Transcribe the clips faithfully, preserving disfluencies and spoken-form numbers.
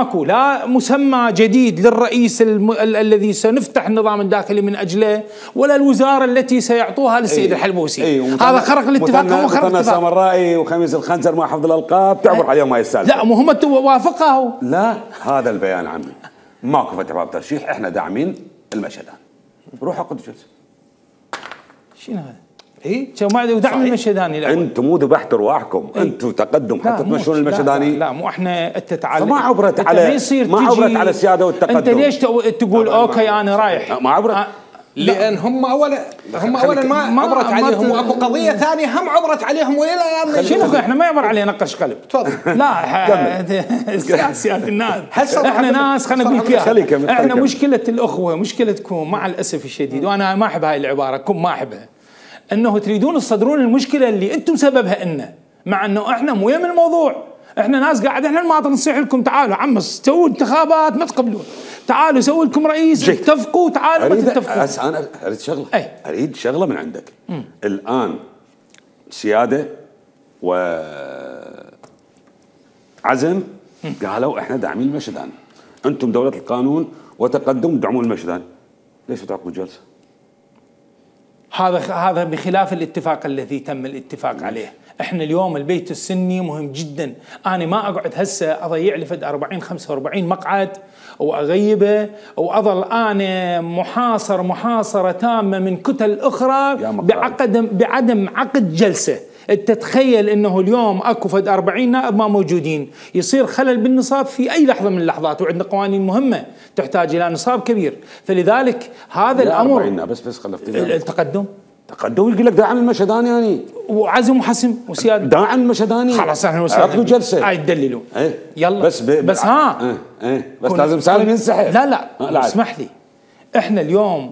ماكو لا مسمى جديد للرئيس الم... ال... الذي سنفتح النظام الداخلي من اجله، ولا الوزاره التي سيعطوها للسيد أي. الحلبوسي. أي. هذا خرق الاتفاق. هم خرق الاتفاق. سامرائي وخميس الخنزر مع حفظ الالقاب تعبر عليهم هاي السالفه. لا مو هم وافقه. لا هذا البيان عمي ماكو فتح باب ترشيح، احنا داعمين المشهدان. روح عقد جلسه. شنو هذا؟ اي شو ما ودعم المشهداني. انتم مو ذبحتوا ارواحكم، انتم تقدم حتى تمشون المشهداني. لا, لا مو احنا انت تعال ما عبرت على ما عبرت على السياده والتقدم. انت ليش تقول اوكي انا رايح؟ ما عبرت أه لان هم اولا هم اولا ما, ما عبرت عليهم، واكو قضيه ثانيه هم عبرت عليهم والى الان. شنو احنا ما يعبر علينا نقش قلب. تفضل. لا سياده الناس احنا ناس خلينا نقول فيها احنا مشكله الاخوه مشكلتكم مع الاسف الشديد، وانا ما احب هاي العباره كم ما احبها، انه تريدون تصدرون المشكله اللي انتم سببها إلنا، مع انه احنا مو يم الموضوع. احنا ناس قاعد احنا المواطن نصيح لكم تعالوا عمس سووا انتخابات ما تقبلون، تعالوا سووا لكم رئيس اتفقوا، تعالوا ما تتفقوا. أس انا اريد شغله أي. اريد شغله من عندك. م. الان سياده و عزم قالوا احنا داعمين المشهداني، انتم دوله القانون وتقدم تدعمون المشهداني، ليش تعقدوا جلسه؟ هذا هذا بخلاف الاتفاق الذي تم الاتفاق عليه. احنا اليوم البيت السني مهم جدا، انا ما اقعد هسه اضيع لي فد أربعين خمسة وأربعين مقعد واغيبه واظل انا محاصر محاصره تامه من كتل اخرى بعقد بعدم عقد جلسه. انت تتخيل انه اليوم اكو فد أربعين نائب ما موجودين، يصير خلل بالنصاب في اي لحظه من اللحظات، وعندنا قوانين مهمه تحتاج الى نصاب كبير، فلذلك هذا الامر أربعين بس بس خلفتني التقدم تقدم يقول لك داعم المشهداني يعني وعزم وحسم وسياده داعم المشهداني. خلاص احنا عقدوا جلسه هاي تدللوا. ايه يلا بس ب... بس ها ايه ايه بس لازم سالم ينسحب. لا لا, لا اسمح لي، احنا اليوم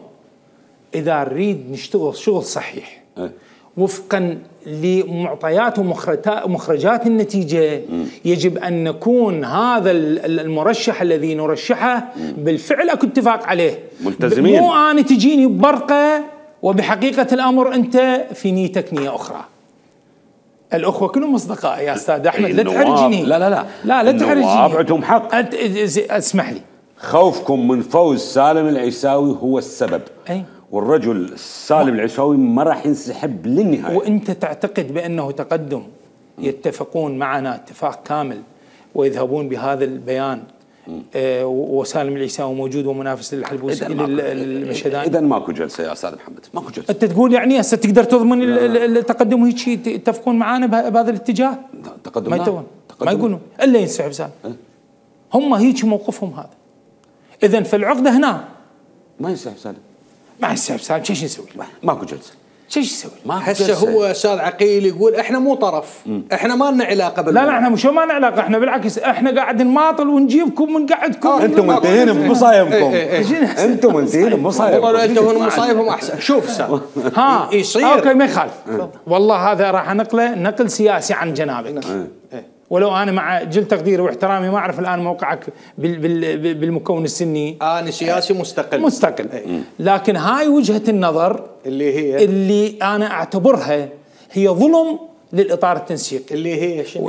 اذا نريد نشتغل شغل صحيح ايه؟ وفقا لمعطيات ومخرجات النتيجه م. يجب ان نكون هذا المرشح الذي نرشحه م. بالفعل اكو اتفاق عليه، ملتزمين. مو انا تجيني ببرقه وبحقيقه الامر انت في نيتك نيه اخرى. الاخوه كلهم اصدقاء يا استاذ احمد، لا تحرجني. لا لا لا لا لا تحرجني. عندهم حق. اسمح لي، خوفكم من فوز سالم العيساوي هو السبب. أي. والرجل سالم العيساوي ما راح ينسحب للنهايه. وانت تعتقد بانه تقدم يتفقون معنا اتفاق كامل ويذهبون بهذا البيان آه وسالم العيساوي موجود ومنافس للحلبوسي للمشهداني؟ اذا ماكو جلسه يا استاذ محمد، ماكو جلسه. انت تقول يعني هسه تقدر تضمن التقدم هيك شيء يتفقون معنا بهذا الاتجاه؟ تقدم ما يتون ما يقولون الا ينسحب سالم. أه؟ هم هيك موقفهم هذا. اذا فالعقده هنا ما ينسحب سالم. ما ينسحب سالم، شو نسوي؟ ماكو جلسه. شو يسوي؟ هسه هو استاذ عقيل يقول احنا مو طرف، مم. احنا ما لنا علاقه بالموضوع. لا لا احنا مش ما لنا علاقه، احنا بالعكس احنا قاعد نماطل ونجيبكم ونقعدكم. آه انتم منتهين بمصايبكم. انتم منتهين بمصايبكم. والله انتم مصايبهم احسن. شوف استاذ ها يصير اوكي ما يخالف. والله هذا راح نقله نقل سياسي عن جنابك. ولو انا مع جل تقديري واحترامي ما اعرف الان موقعك بالمكون السني. انا سياسي مستقل مستقل لكن هاي وجهه النظر اللي هي اللي انا اعتبرها هي ظلم للاطار التنسيقي اللي هي شنو؟